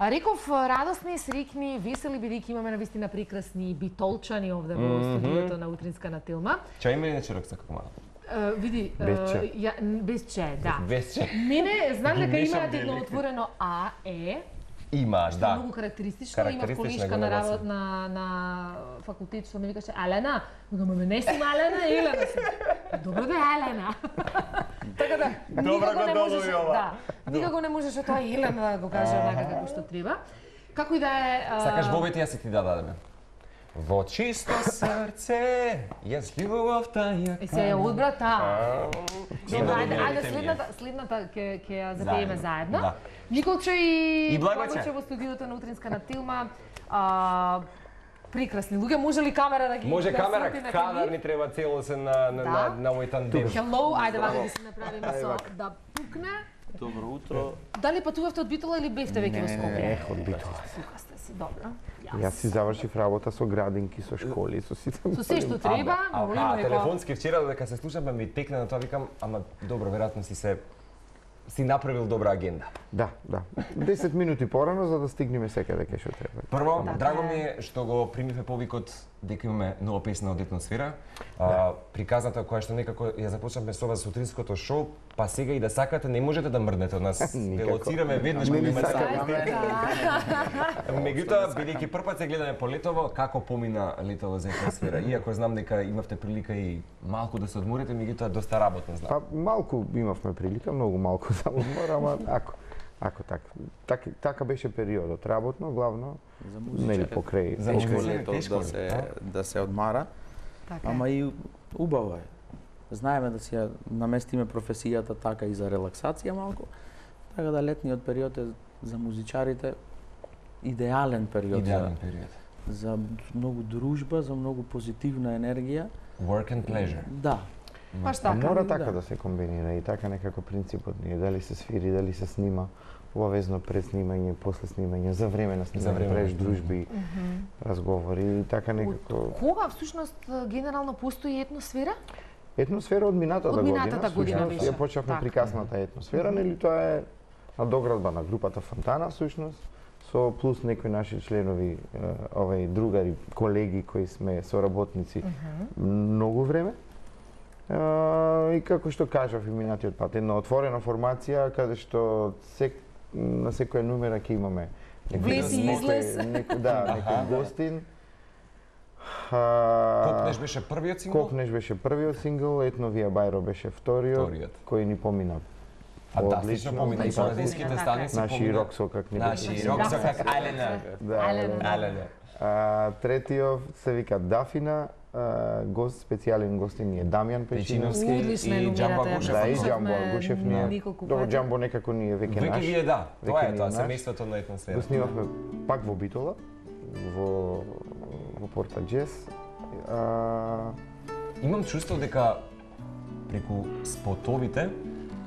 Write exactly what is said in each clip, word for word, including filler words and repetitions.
А реков радосни, срекни, весели бидејќи имаме навистина прекрасни битолчани овде во студиото на Утринска на Тилма. Чај има ли нече рокса како мала? Uh, види, без че. uh, ја, без че, да. Без че. Мене, знам дека Мешам имаат едно дели. отворено А, Е, Имаш, што е да. многу карактеристично. Имав Карактеристична колешка го на нагласа. работ на, на факултет, што ми викаше Елена. Викам, ме не сум Елена, Елена сум. Добро да е Елена. Така да, Добро никако го не можеш, долови ова. да, никако не можеш тоа Елена да го каже онака како што треба. Како и да е... а, Сакаш бобет, јас си ти да дадеме. Во чисто срце, јас љубовта ја Е, се ја одбра таа. Добро, Добро, ајде, добро, ајде идете следната, следната ќе ќе ја запееме Заедно, заедно. да. Николче и И Благоче. Благоче во студиото на Утринска на Тилма. А, прекрасни луѓе, може ли камера да ги Може да камера, свети на кадар нив? ни треба целосен на на Да. на на овој тандем. Hello, ајде вака да се направиме со да пукне. Добро утро. Дали патувавте од Битола или бевте веќе во Скопје? Ех, од Битола. Сука сте си, добро. Јас си завршив работа со градинки, со школи, со сите. Со се што треба, А, но а, има а дека... телефонски вчера дека се слушаме ми текне на тоа, викам, ама добро, веројатно си се си направил добра агенда. Да, да. десет минути порано за да стигнеме секаде кај што треба. Прво, Така драго е. ми е што го примиве повикот дека имаме нова песна од Етносфера. А, приказната која што некако ја започнавме со вас сутринското шоу, па сега и да сакате не можете да мрднете од нас. Никако. Ве лоцираме веднаш Не кога ни имате сакаме. Меѓутоа, бидејќи прв се гледаме по летово, како помина летово за Етносфера? Иако знам дека имавте прилика и малку да се одморите, меѓутоа доста работно знам. Па малку имавме прилика, многу малку за одмор, ама ако ако така. Така, така беше периодот, работно, главно, За нели музичарите. покрај. За Тешко музичарите, лето тешко да се лето, да се одмара, Така е. ама и убаво е. Знаеме да си ја наместиме професијата така и за релаксација малку. Така да летниот период е за музичарите идеален период Идеален за, период. за многу дружба, за многу позитивна енергија. Work and pleasure. Да. Баш Така, така. мора така да. да се комбинира и така некако принципот ни е, дали се свири, дали се снима, обавезно пред снимање, после снимање, за време на За снимање, време. преш дружби, разговори и така некако. Од кога всушност генерално постои Етносфера? Етносфера од минатата Од година, минатата година всушност, беше. ја почнавме Така. прикасната Етносфера, нели тоа е надоградба на групата Фонтана всушност, со плюс некои наши членови, е, овај другари, колеги кои сме соработници многу време. Е, и како што кажав и минатиот пат, една отворена формација каде што сек, на секоја номера ќе имаме некој- Влез и некој- излез. некој- да, некој Аха. гостин. А, Копнеш беше првиот сингл? Копнеш беше првиот сингл, Етновија Бајро беше вториот, Вториот. кој ни помина Фантастично помина и по Така, радијските така. станици. наши помина. роксокак ни Наши беше. роксокак Да. Алена. Да, Алена. да. Алена. А, третиот се вика Дафина, а, гост, специјален гостин ни е Дамјан Печиновски. Печиновски. Одлична и е Џамбо номерата, ја Агушев. Да, и слушавме Џамбо Агушев ни е. неколку Добро, пати. Џамбо некако ни е веќе Веќе наш. ви е да, тоа Веќе е ни тоа, наш. семејството на Етносфера. Го снимавме пак во Битола, во во Порта Джес. А, Имам чувство дека преку спотовите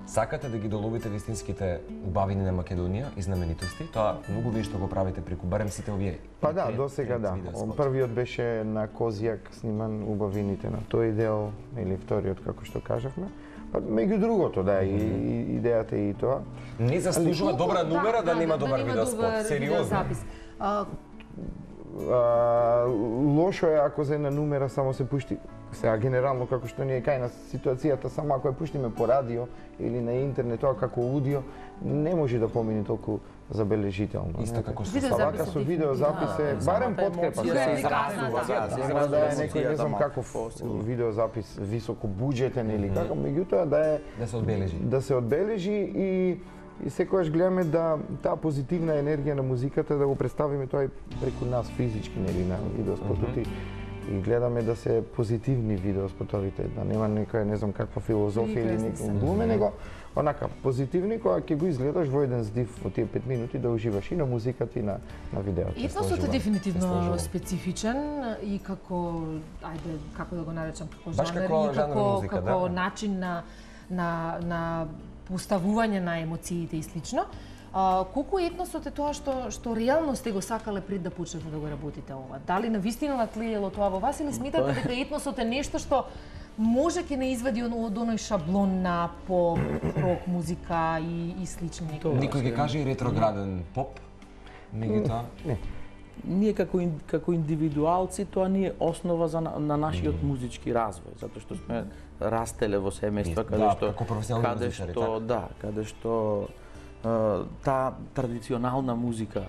сакате да ги доловите вистинските убавини на Македонија и знаменитости. Тоа многу вие што го правите преку барем сите овие. Па да, крет- до сега крет да. видео Он спот. првиот беше на Козијак сниман убавините на тој дел, или вториот како што кажавме. Па меѓу другото, да, и, и идејата е и тоа. Не заслужува Колку- добра номера да, нема добар нема видеоспот. добар Сериозно. видеозапис. А, А, лошо е ако за една номера само се пушти, сега генерално како што ни е кај нас ситуацијата, само ако ја пуштиме по радио или на интернет, тоа како аудио, не може да помине толку забележително. Исто не? како со Видеозапис Па вака е со дефинитивно. видеозапис е Да, барем самата подкрепа. емоција Сега, се изразува, да, се Мора да е изразува некој, не знам емоцијата каков малку. видеозапис високо буџетен или како, меѓутоа да е Да се одбележи. да се одбележи и и секогаш гледаме да таа позитивна енергија на музиката да го представиме тоа и преку нас физички, нели, на видеоспотот и и гледаме да се позитивни видеоспотовите, да нема некоја не знам каква филозофија или Прекрасни некој се. глуме, него онака позитивни кога ќе го изгледаш во еден здив во тие пет минути да уживаш и на музиката и на на видеото. Етносот е сложувам, се дефинитивно сложувам. специфичен и како, ајде, како да го наречам, како Баш жанр како и жанр како, музика, како да. начин на, на, на поставување на емоциите и слично. А, колку етносот е тоа што што реално сте го сакале пред да почнете да го работите ова? Дали навистина натлиело тоа во вас или сметате дека етносот е нешто што може ќе не извади од од оној шаблон на поп, рок музика и, и слични некои? Никој ќе каже и ретрограден поп. Меѓутоа, Не. Ние како ин, како индивидуалци тоа ни е основа за на, на нашиот музички развој, затоа што сме растеле во семејства Да, каде што како професионални каде музичари, што така? да, каде што а, таа традиционална музика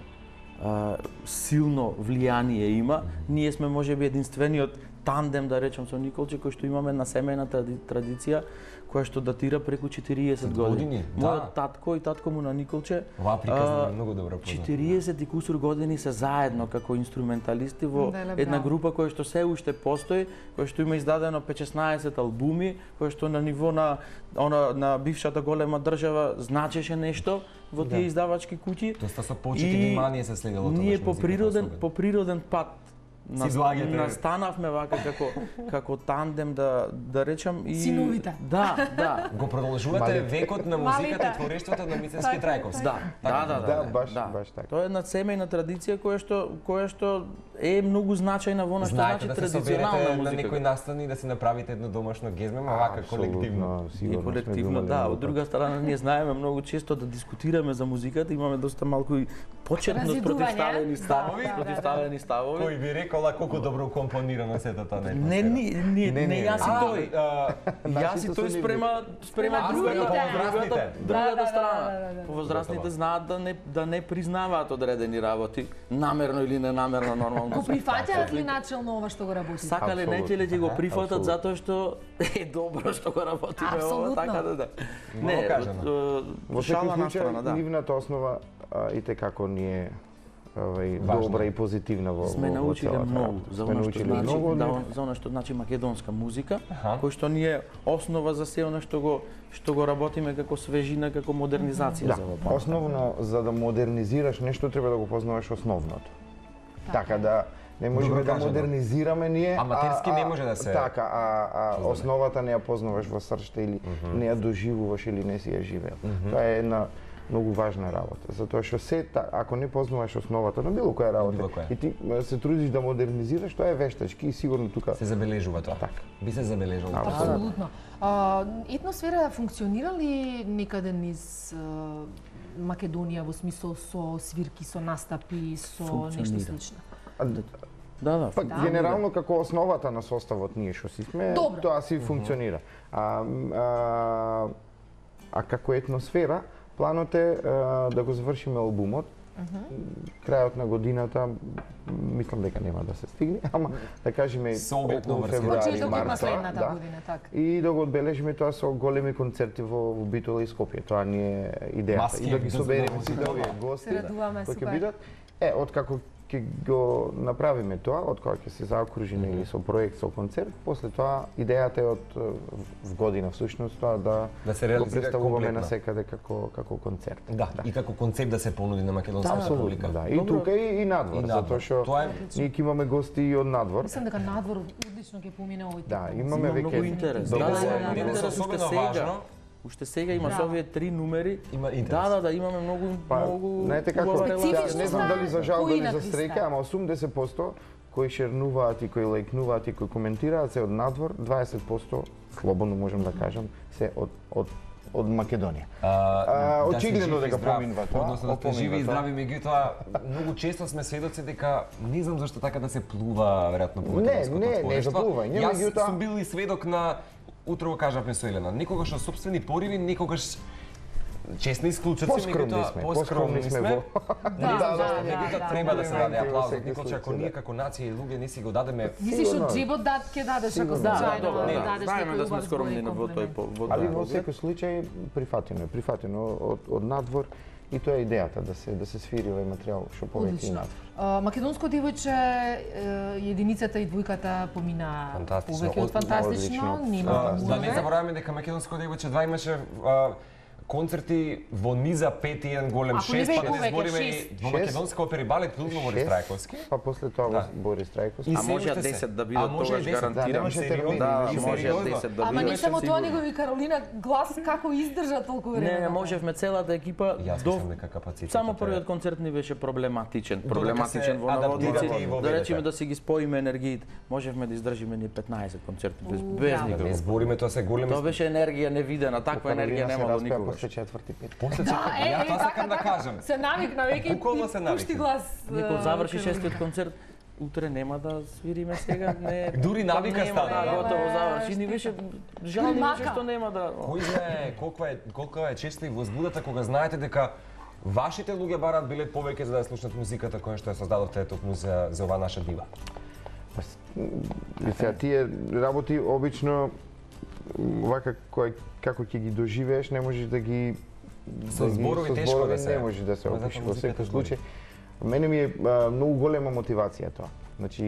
а, силно влијание има. Ние сме можеби единствениот тандем, да речем, со Николче, кој што имаме на семејна тради, традиција која што датира преку четириесет години. години, Мојот да. татко и татко му на Николче оваа приказна а, е многу добро позната. четириесет и кусур години се заедно како инструменталисти во Деле, една браво. група која што се уште постои, која што има издадено петнаесет албуми, која што на ниво на она на бившата голема држава значеше нешто во тие издавачки куќи. Доста со почит и внимание се следело тоа. Ние по природен по природен пат Си излагате. настанавме вака како како тандем да да речам и Синовите. Да, да. Го продолжувате Малите. векот на музиката Малите. и творештвото на Мицевски Трајковски. Да, да, да, Да, да, баш- да. баш така. Тоа е една семејна традиција која што која што е многу значајна во она што Знаете значи да се традиционална соберете на музика. некој настан и да си направите едно домашно гезме, ма вака колективно. Апсолутно, И сигурно сме колективно, думали да. многу Од друга страна, ние знаеме многу често да дискутираме за музиката, имаме доста малку и почетно Разидување. спротивставени Да, ставови, да, да, да. спротивставени ставови. Кој би рекола колку добро компонирано сето тоа на Не, не, не, Не, не, не, јас и А, тој. а, Јас и Нашите тој се спрема спрема А, другата, спрема повозрастните. другата, Да, другата да, да, страна. да, да, да. Повозрастните знаат да не да не признаваат одредени работи, намерно или ненамерно нормално. Го прифаќаат ли начелно ова што го работите? Сакале не Апсолутно. ќе ли го прифатат Апсолутно. затоа што е добро што го работиме ова, Апсолутно. така да да. Мало Не, кажано. од, Во од, шала секој на случај, страна, да. нивната основа а, и те како ни е овај, Важно. добра и позитивна во, Сме во, во научиле целата многу работа. за Сме она што научиле значи многу, да, но за она што значи македонска музика, Аха. кој што ни е основа за се она што го што го работиме како свежина, како модернизација да, за ова. основно за да модернизираш нешто треба да го познаваш основното. Така да не можеме Добро да кажано. модернизираме ние, Аматерски а, не а, може да се Така, а, а создаде. основата не ја познаваш во срцето или не ја доживуваш или не си ја живеел. Тоа е една многу важна работа, затоа што се та- ако не познаваш основата на било која работа Било која. и ти м, се трудиш да модернизираш, тоа е вештачки и сигурно тука се забележува тоа. Така. Би се забележало. Да, Апсолутно. А, етносфера функционира ли некаде низ а, Македонија во смисол со свирки, со настапи, со нешто Функционира. слично? А, Да, да. Па Да. генерално како основата на составот ние што си сме, Добро. тоа си функционира. А, м, а, а како етносфера, планот е а, да го завршиме албумот. Крајот на годината м, мислам дека нема да се стигне, ама да кажеме Со оглед на околу врска. февруари, Почетокот на март, следната да. година, така. И да го одбележиме тоа со големи концерти во, во Битола и Скопје. Тоа ни е идејата. Маски И да ги без собереме задоволство. сите овие гости Се радуваме, кои ќе супер. бидат. Е, откако ќе го направиме тоа, од кога ќе се заокружиме или со проект, со концерт, после тоа идејата е од е, в година всушност тоа да, Да се го реализира представуваме комплетно. на секаде како како концерт. Да, и како концепт да се понуди на македонската Апсолутно, публика. да. И тука и, и надвор, И надвор. затоа што Тоа е- ние ќе имаме гости и од надвор. Мислам дека надвор одлично ќе помине овој тип. Да, музика. имаме Има многу веќе интерес. добро- Да, да, Денес- има денес интерес уште особено сега. важно. Уште сега има Браво. со овие три numери. Има интерес. Да, да, да, имаме многу Па, многу знаете како, убава Специфично релација. не знам дали за жал, кои дали за накриста? среќа, ама осумдесет посто кои шернуваат и кои лајкнуваат и кои коментираат се од надвор, дваесет посто слободно можам да кажам, се од од од Македонија. А, А, да си очигледно жив и дека здрав, поминува тоа, Односно да сте поминува живи и тоа. здрави, меѓутоа многу често сме сведоци дека не знам зашто така да се плува веројатно по Не, македонското не, не творештво. за плување, Јас меѓутоа- сум бил и сведок на утро го кажавме со Елена, некогаш на сопствени пориви, некогаш честни исклучоци, Поскромни меѓутоа сме, поскромни поскромни сме сме. во- Да, да, да, Меѓутоа да, треба да, да се да, даде да. аплауз Во од секој Николче, ако случај, ние да. како нација и луѓе не си го дадеме. Мислиш од Сигурно. джебот дат ќе дадеш ако Сигурно. Да, да, случајно добро, да. дадеш Знаеме некој да сме убав скромни збор и во тој комплимент. по- во Али тој во поглед. секој случај прифатено е, прифатено од од надвор и тоа е идејата да се да се свири овој материјал што повеќе и Одлично. надвор. А, Македонско девојче, е, единицата и двојката помина Фантастично, повеќе од од- фантастично, одлично. нема А, да не мурове. забораваме дека Македонско девојче два имаше а, концерти во низа пет и еден голем Ако не шест, бе па да не повеќе, збориме и шест. во Шест. македонска опера и балет Билно Борис Шест, Трајковски. Па после тоа Да. Борис Трајковски. И А се може уште се. десет да А бидат, може тогаш и десет, гарантирам. да, немаше термини, Да, и може сериозно. десет да Ама бидат. не само тоа, сигурно. него и Каролина глас како издржа толку време. Не, не можевме целата екипа Јас до мислам дека капацитетот само е- првиот концерт ни беше проблематичен, Додека проблематичен се во адаптирате наводници. и во Да ведете. речеме да си ги споиме енергиите, можевме да издржиме ни петнаесет концерти без У, без браво. Да не никакво. збориме, тоа се големи. Тоа беше енергија невидена, таква Каролина енергија се немало распеа никогаш. после четврти пет. После Да, четврти, е, ја е, тоа така, сакам да така. кажам. Се навикна веќе Буквално и се пушти навикна. глас. Некој а, заврши Каролина. шестиот концерт, утре нема да свириме сега, не. Дури навика нема, стана, да, да. готово Е, заврши. Ни беше жал ни беше мака. што нема да. Кој знае колку е колку е честа и возбудата кога знаете дека вашите луѓе бараат билет повеќе за да ја слушнат музиката која што ја создадовте токму за за оваа наша дива. И сега тие работи обично вака кој како ќе ги доживееш, не можеш да ги Со да ги- зборови со тешко зборови да се- не можеш да се Ама опишеш затоа во музиката секој збори. случај. Мене ми е а, многу голема мотивација тоа. Значи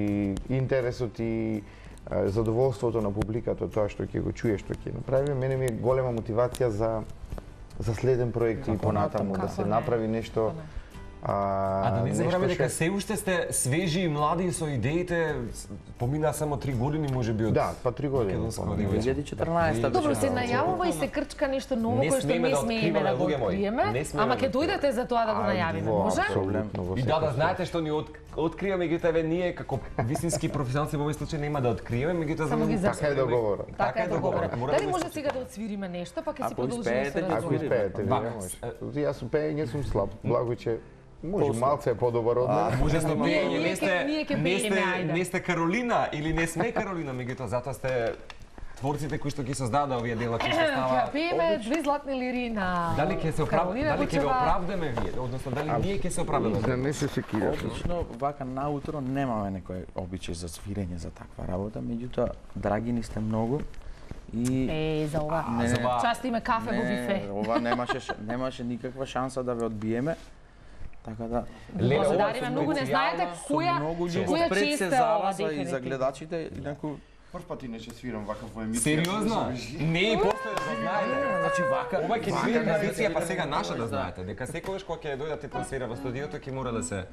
интересот и а, задоволството на публиката од тоа што ќе го чуе, што ќе направи, мене ми е голема мотивација за за следен проект и понатаму да Како се не? направи нешто. А, А да не забравяме нешто дека што- се уште сте свежи и млади со идеите, помина само три години можеби од Да, па три години. Македонска помалку. универзитет. две илјади и четрнаесета Добро, беше. се најавува и се крчка нешто ново Не кое што смееме не да смееме откриваме, да го луѓе мои. откриеме, Не смееме ама да ќе дојдете за тоа да го А, најавиме, во, може? апсолутно, во И секој да, да случај. знаете што ни от, откриваме, меѓутоа еве ние како вистински професионалци во овој случај нема да откриеме, меѓутоа Само ги Така е договорот. Така е договорот. Мора да Дали го може исклучиме. сега да отсвириме нешто, па ќе си Ако продолжиме успеете, со ќе Ако разговор. успеете, ви Вака, може. е- Јас со пеење сум слаб. Благо че може малце е подобар од мене. Може со Ние- пеење, ние не ќе- сте ние ќе не пееме, сте ајде. не сте Каролина или не сме Каролина, меѓутоа затоа сте творците кои што ги создадаа овие дела кои што Ќе става. пееме две златни лири на Дали ќе се оправ... Каролина дали ќе ве Гучева. оправдаме вие, односно дали ние ќе се оправдаме? За не се секираш. Обично вака наутро немаме некој обичај за свирење за таква работа, меѓутоа драги ни сте многу и Е, за ова. Не, за ова- Част име кафе во бифе. ова немаше ш- немаше никаква шанса да ве одбиеме. Така да Леле, ова Благодариме со многу, не знаете специјална- која многу чест. љубов која пред чест се е ова зараза и за дефинитивно. гледачите, инаку Прв пат иначе свирам вака во емисија. Сериозно? Не и после да знаете. значи вака Ова ќе ни биде вака традиција, па да сега се наша да да. знаете, дека секогаш кога ќе дојдат и трансфера во студиото ќе мора да се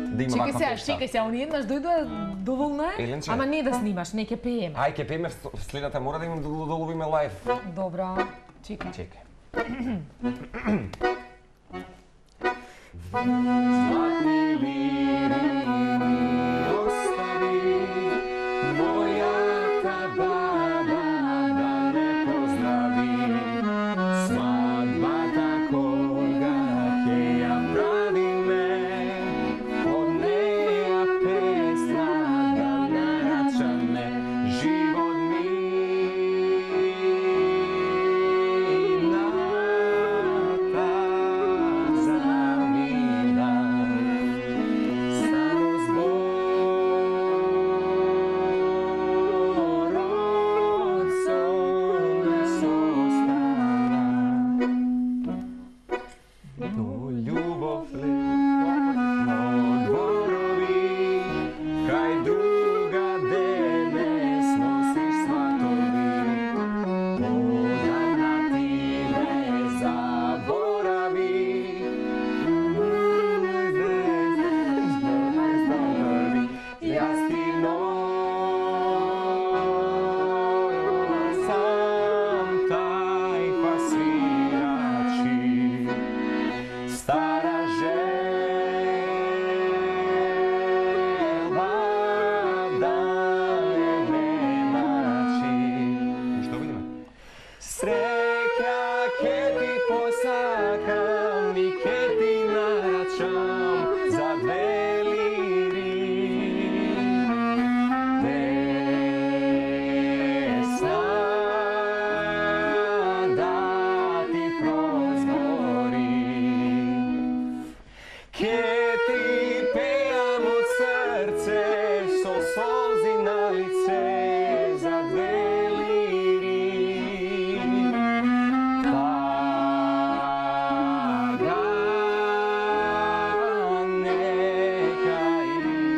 да има Чекај ваква сега, фешта. чекај сега, они еднаш дојдоа доволно е, Еленче. ама не да снимаш, не ќе пееме. Ај ќе пееме следната, мора да имам да да ловиме лајв. Добро, чекај. Чекај. Златни лири ми остави, мојата баба да ме поздрави. Свадбата кога ќе ја правиме, од неја песна да нарачаме живот ми. Стара желба да не ме мрачи. Што видиме? Среќа ке ти посакам и ке ти нарачам за две лири. Песна да ти прозбори. Ке ти пеам од срце со солзи на лице за две лири. Тага нека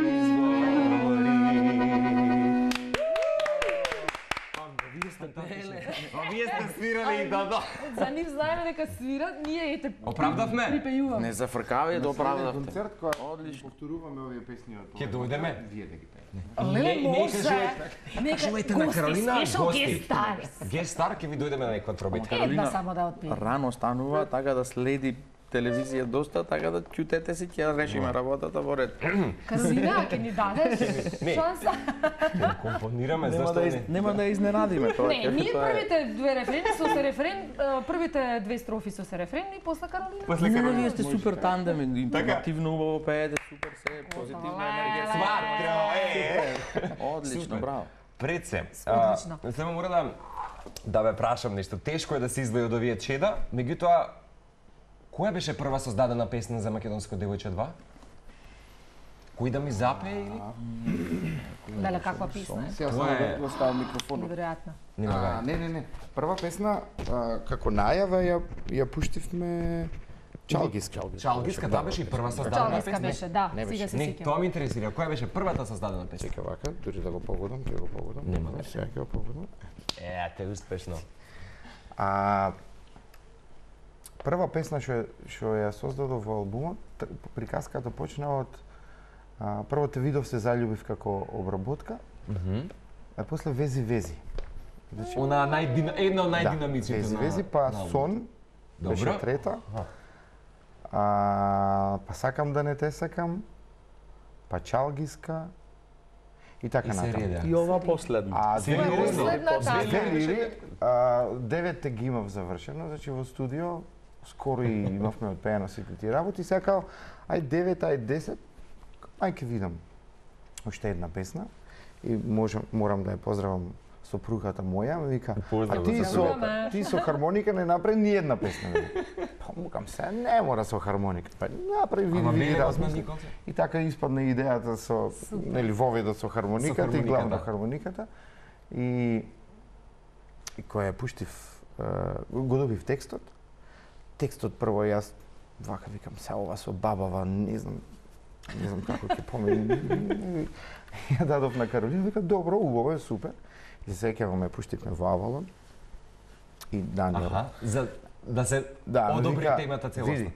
изгори. А вие сте свирали и да да. За нив знаеме дека свират, ние ете Оправдавме? припејуваме. не зафркавај да оправдавте. концерт која повторуваме овие песни од Ќе дојдеме? Вие да ги пеете. Леле, Не- не може. кажувајте- Нека Кажувајте на Каролина, special гости. guest stars. Гест стар ќе ви дојдеме на некоја пробитка. Една само да отпее. Рано станува, така да следи телевизија доста, така да ќутете си, ќе решиме работата во ред. Каролина, ќе ни дадеш Не. шанса? Ќе компонираме Нема зашто да из, не. нема да изненадиме тоа. Не, ќе- ние тоа е- првите две рефрени со се рефрен, а, првите две строфи со се рефрен и после Каролина. После Не, не, Каролина вие сте може. супер тандем, информативно убаво пеете, супер се, позитивна енергија. Сватро, е! Одлично, Супер. браво. Пред се, Одлично. а, само мора да да ве прашам нешто. Тешко е да се издвои од овие чеда, меѓутоа која беше прва создадена песна за Македонско девојче два? Кој да ми запее или? Дале каква песна е? Сега Тоа само е- да го ставам микрофонот. Неверојатно. Нема А, гај. не, не, не. Прва песна, а, како најава, ја, ја пуштивме Чалгиска. Чалгиска, таа беше и прва создадена Чалгиска песна. беше, да, Не сега беше. се Не, сеќавам. тоа ме интересира. Која беше првата создадена песна? Чека вака, дури да го погодам, ќе го погодам. Нема Не, вeze. сега ќе го погодам. Е, те успешно. А прва песна што ја- што ја создадов во албумот, т- приказката почна од а, прво те видов се заљубив како обработка, Мгм. а после вези вези. Значи, Она најдина, една од да, најдинамичните вези на вези, па на албумот. сон беше Добро. трета. А, па сакам да не те сакам, па Чалгиска и така И се натаму. реда. И ова последно. А две Сериозно? лири, Последната. две лири, а, деветте ги имав завршено, значи во студио скоро и имавме одпеено сите тие работи, сега као, ај девет, ај десет, ај ке видам уште една песна и можам, морам да ја поздравам сопругата моја, ми вика, а ти со, Поздравуваме. ти со хармоника не направи ни една песна. Ми. Па му кам се, не мора со хармоника, па направи види, Ама види, бе, размисли. Николце? И така испадна идејата со, нели, воведот со хармониката, Со хармоника, и главно да. хармониката. И, и која ја пуштив, е, го добив текстот. Текстот прво јас, вака викам, се ова со бабава, не знам, не знам како ќе помени. Ја дадов на Каролина, вика, добро, убаво е, супер. И се сеќаваме, пуштивме во Авалон. И Даниел. Аха, за да се Да, ми одобри вика, темата целосно. види,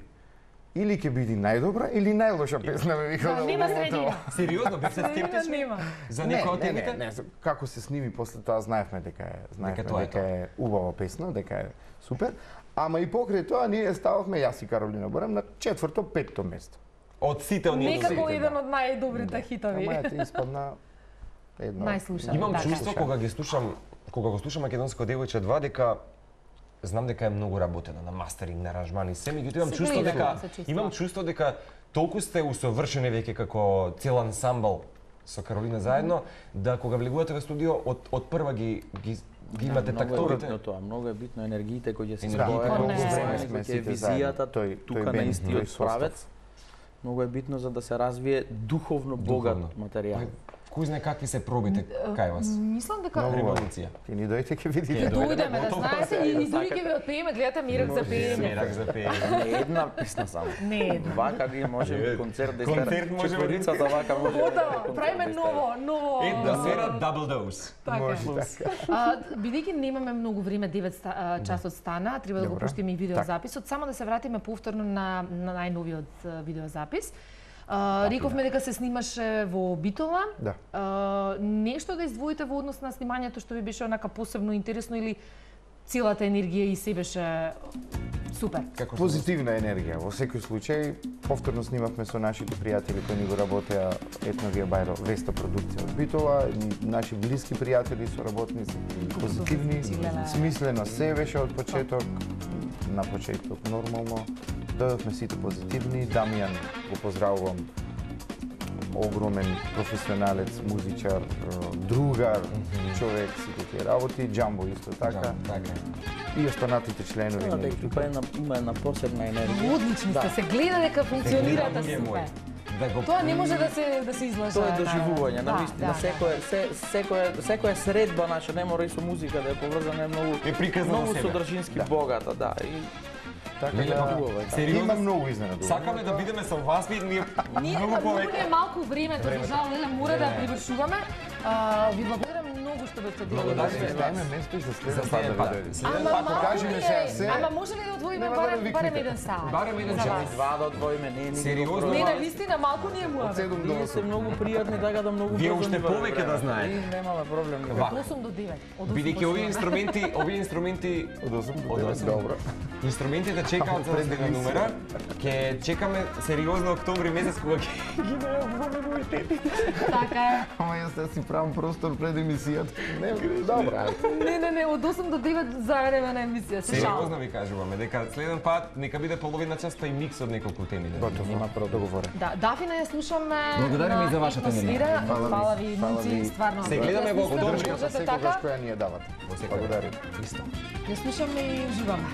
или ќе биде најдобра, или најлоша песна, ме вика. Да, од нема албумот. средина. Сериозно, бев се Средина скептичен нема. за Не, некој од не, не, темите? не, како се сними после тоа знаевме дека е, знаевме Дека тоа е дека е убава песна, дека е супер. Ама и покрај тоа ние стававме јас и Каролина Борем на четврто, петто место. Од сите оние Некако сите, еден да. од најдобрите хитови. Ама ете испадна едно. Најслушано. Имам Да, чувство да. кога ги слушам, кога го слушам Македонско девојче два дека знам дека е многу работено на мастеринг, на аранжмани, се, меѓутоа имам Се чувство гледа, дека се чувства. имам чувство дека толку сте усовршени веќе како цел ансамбл со Каролина заедно, да кога влегувате во студио од од прва ги ги ги имате Многу е тактовите. битно тоа, многу е битно енергиите кои ќе се Енергиите спојат, колку колку сме време сме кој ќе е сите заедно. визијата Тој- тој тука на бенд, тој истиот состав. правец. Многу е битно за да се развие духовно богат Духовно. материјал. Кој знае какви се пробите кај вас? Мислам дека Многу. Револуција. Ти ни дојдете ќе видите. Ќе дојдеме, дојдеме, да готово знаете, се, и, и да дури ќе ви отпееме, гледате мирак за пеење. Смерак за пеење. Не една песна само. Не една. Вака ги може концерт да Концерт истера. можеме да- Четворицата вака може. Готово, правиме ново, ново. Една сера дабл доуз. Така. Може така. А, бидејќи немаме многу време, девет ста, а, часот стана, треба да го Добро. пуштиме и видеозаписот, само да се вратиме повторно на, на најновиот а, видеозапис. А, рековме дека се снимаше во Битола. Да. А, нешто да издвоите во однос на снимањето што ви беше онака посебно интересно или целата енергија и се беше супер? Како што Позитивна енергија. Во секој случај, повторно снимавме со нашите пријатели кои ни го работеа Етновија Бајро Веста продукција од Битола, и наши блиски пријатели со работници, позитивни, Леле. смислено се беше од почеток, на почеток нормално. Дојдовме сите позитивни, Дамјан го поздравувам, огромен професионалец, музичар, другар, човек, сите тие работи, Джамбо исто така, Да, така е. и останатите членови Да, на дека тука е на, има една посебна енергија. Одлични сте, Да. се гледа дека функционирате Луѓе супер. мои, да го Тоа не може да се да се излажа. Тоа е доживување, на Да, вистина. да, Секоја се, секоја секоја средба наша не мора и со музика да е поврзана, е многу Е приказна многу за себе. содржински богата, да. И Така Леле, да, хубаво е така. Сериозно? има многу изненадувања. Сакаме да бидеме со вас, ние Ние многу многу повеќе. не е малку времето, за жал, леле, мора да привршуваме. А, ви благодарам многу многу што ме предило. Благодарам. Дајме место и за За следен пат следен да пат. видиме. Следен Ама пат малку покажи ми ми сега е. се. Ама може ли да одвоиме Нема да барем ме барем викнете. еден саат? Барем еден за час. вас? Два да одвоиме, не е никакво Сериозно? проблем. Не, на вистина малку ни е Од муавет. седум до Вие се осум. многу пријатни, така да многу Вие брзо уште ни врви повеќе да време. знаете. И немаме проблем. Ва. Од осум до девет. Од осум Бидејќи до овие седум. инструменти, овие инструменти Од осум до Од девет, осум. добро. Инструментите чекаат за да стигне номера. Ќе чекаме сериозно октомври месец кога ќе ги најавуваме новитетите. Така е. Ама јас да си правам простор пред емисијата. Не, добро, ајде. Не, не, не, од осум до девет заеднеме на емисија. Се шалам. Сериозно ви кажуваме дека следен пат нека биде половина час па и микс од неколку теми. да Готово. Нема договорен. Да, Дафина ја слушаме. Благодариме и за вашата атмосфера. енергија. Фала ви. Фала ви, Фала момци, ви. стварно. Се гледаме во Ја слушам, октомври. Поддршката можете секогаш така. која ни ја давате. Во секој Благодарим. Исто. Ја слушаме и уживаме.